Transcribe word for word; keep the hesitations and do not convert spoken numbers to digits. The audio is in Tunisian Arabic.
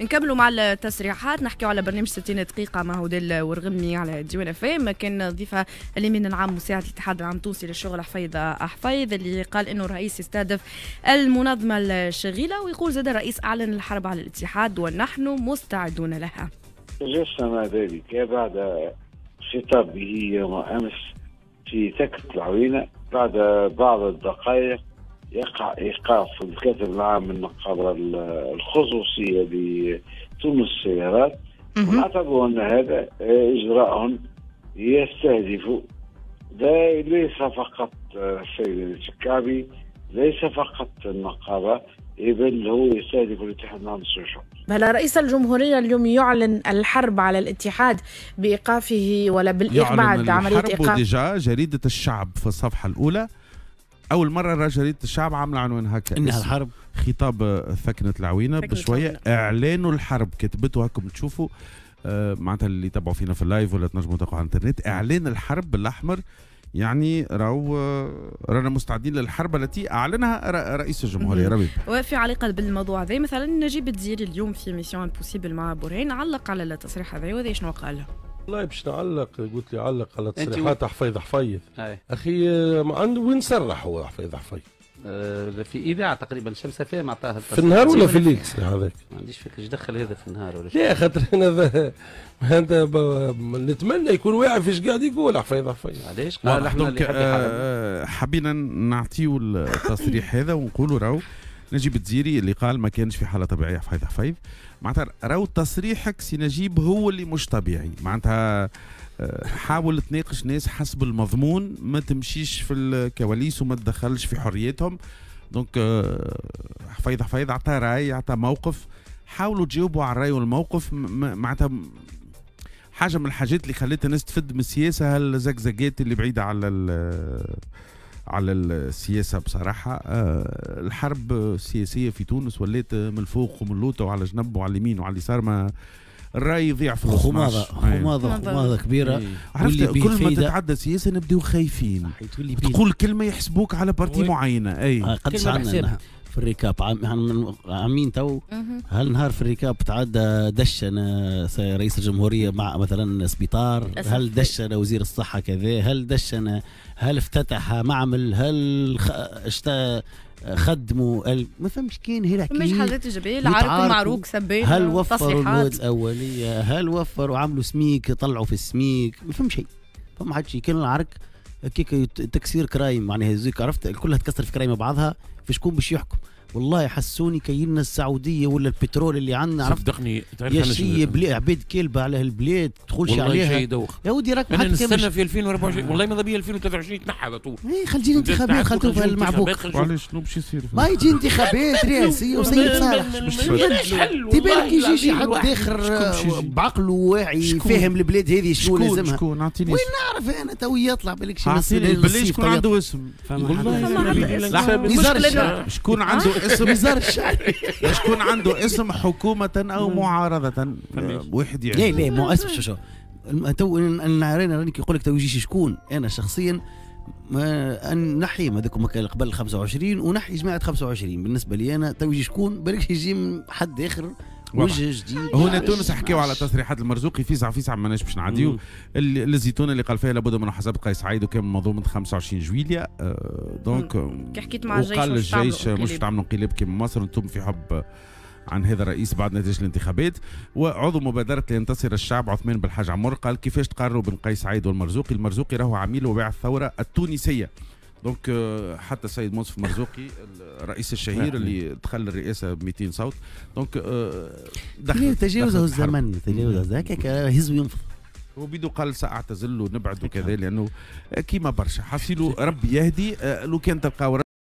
نكملوا مع التصريحات، نحكيو على برنامج ستين دقيقة مع هدى الورغمي على ديوان اف ام. كان ضيفها الامين العام مساعد الاتحاد العام التونسي للشغل حفيظ حفيظ، اللي قال انه الرئيس يستهدف المنظمة الشغيله، ويقول زاد الرئيس اعلن الحرب على الاتحاد ونحن مستعدون لها. تجسم ذلك بعد خطابه يوم امس في ثكنة العوينة، بعد بعض الدقائق يقع ايقاف الكاتب العام النقابة الخصوصية لتونس السيارات، ونعتبر ان هذا اجراء يستهدف ليس فقط السيد الشكابي، ليس فقط النقابة، بل هو يستهدف الاتحاد العام للشغل. بل رئيس الجمهورية اليوم يعلن الحرب على الاتحاد بإيقافه ولا بالإيقاف بعد عملية إيقاف. déjà جريدة الشعب في الصفحة الأولى أول مرة راه جريدة الشعب عاملة عنوان هكا، إنها الحرب، خطاب ثكنة العوينة بشوية إعلان الحرب، كتبته هاكم تشوفوا آه معناتها اللي تبعوا فينا في ال live ولا تنجموا تقعوا على الانترنت، إعلان الحرب بالأحمر، يعني راهو رانا مستعدين للحرب التي اعلنها رئيس الجمهورية. ربيب، وفي علاقة بالموضوع هذا مثلا نجيب الدزيري اليوم في Mission Impossible مع برهان علق على التصريح هذا، وهذا شنو قال؟ والله باش نعلق، قلت لي علق على تصريحات حفيظ حفيظ. اخي ما عنده وين صرح هو حفيظ حفيظ؟ في اذاعة تقريبا شمس فام عطاها في النهار ولا في الليل هذاك؟ ما عنديش فكرة ايش دخل هذا في النهار ولا لا، خاطر انا هذا نتمنى يكون واعي فيش قاعد يقول حفيظ حفيظ. علاش؟ قال احنا اللي آه حبينا نعطيو التصريح هذا ونقولوا راهو نجيب الدزيري اللي قال ما كانش في حاله طبيعية حفيظ حفيظ، معناتها راهو تصريحك سي نجيب هو اللي مش طبيعي، معناتها حاول تناقش ناس حسب المضمون، ما تمشيش في الكواليس وما تدخلش في حريتهم. donc حفيظ حفيظ عطى راي، عطى موقف، حاولوا تجاوبوا على الراي والموقف. معناتها حاجة من الحاجات اللي خلت الناس تفد من السياسة هالزقزقات اللي بعيدة على على السياسة بصراحة. الحرب السياسية في تونس ولات من الفوق ومن اللوطه وعلى جنب وعلى اليمين وعلى اليسار، ما الراي يضيع في خماضه خماضه خماضه كبيرة. عرفت كل ما تتعدى سياسة نبداو خايفين، تقول كلمة يحسبوك على partie معينة. اي قداش عندنا في ال récap عام عامين تو، هل نهار في ال récap تعدى دشن رئيس الجمهورية مع مثلا سبيطار، هل دشن وزير الصحة كذا، هل دشن، هل افتتح معمل، هل اشتا خدموا ال... ما فهمش كاين هي الحكاية، مش حاجات ايجابية، العرق المعروك سبين، هل وفروا المواد الاولية، هل وفروا عملوا سميك، طلعوا في السميك، ما فهمش شيء، فما حد شيء. كان العرك كيك تكسير كرايم معناها زيك، عرفت كلها تكسر في كرايم بعضها، في شكون باش يحكم؟ والله حسوني كايننا السعودية ولا البترول اللي عندنا، عرفت؟ صدقني يا شي بلاد عباد كلبه على هالبلاد تدخلش عليها يدوخ. يا ودي راك انا نستنى في ألفين وأربعة وعشرين، والله ماذا بيا ألفين وثلاثة وعشرين تنحى على طول. اي خلي تجي انتخابات، خلي توفى المعبوك. وعلاش شنو باش يصير؟ ما يجي انتخابات رئاسيه وسيد صالح تبالك يجي شي حد اخر بعقله واعي فاهم البلاد هذه شنو لازمها. شكون؟ اعطيني وين نعرف انا تو يطلع بالك شي بالله شكون عنده اسم؟ والله شكون عنده اسم؟ نزار الشعري شكون عنده اسم حكومة أو معارضة؟ واحد يعني لا لا مو اسم شو شو تو انا راني كي يقول لك تو يجي شكون، أنا شخصيا ما نحي هذوك قبل خمسة وعشرين ونحي جماعة خمسة وعشرين. بالنسبة لي أنا تو يجي شكون بالك يجي من حد آخر وجه جديد. هنا تونس حكيوا على تصريحات المرزوقي في ساعة في ساعة ماناش باش نعديو الزيتون اللي قال فيها لابد من محاسبه قيس سعيد وكان منظومة خمسة وعشرين جويليا. أه donc كي حكيت مع الجيش وقال الجيش مش تعملوا انقلاب كيما مصر، انتم في حب عن هذا الرئيس بعد نتيجة الانتخابات. وعضو مبادرة لينتصر الشعب عثمان بالحاج عمر قال كيفاش تقارنوا بين قيس سعيد والمرزوقي؟ المرزوقي راهو عميل وباع الثورة التونسية. donc حتى السيد منصف مرزوقي الرئيس الشهير اللي دخل الرئاسة ب مئتين صوت، donc دخل تجاوزه الزمن، تجاوزه هكاك هز وينفض. وبيدو قال ساعتزل ونبعد وكذا لانه كيما برشا حصيلو ربي يهدي. لو كان تلقاو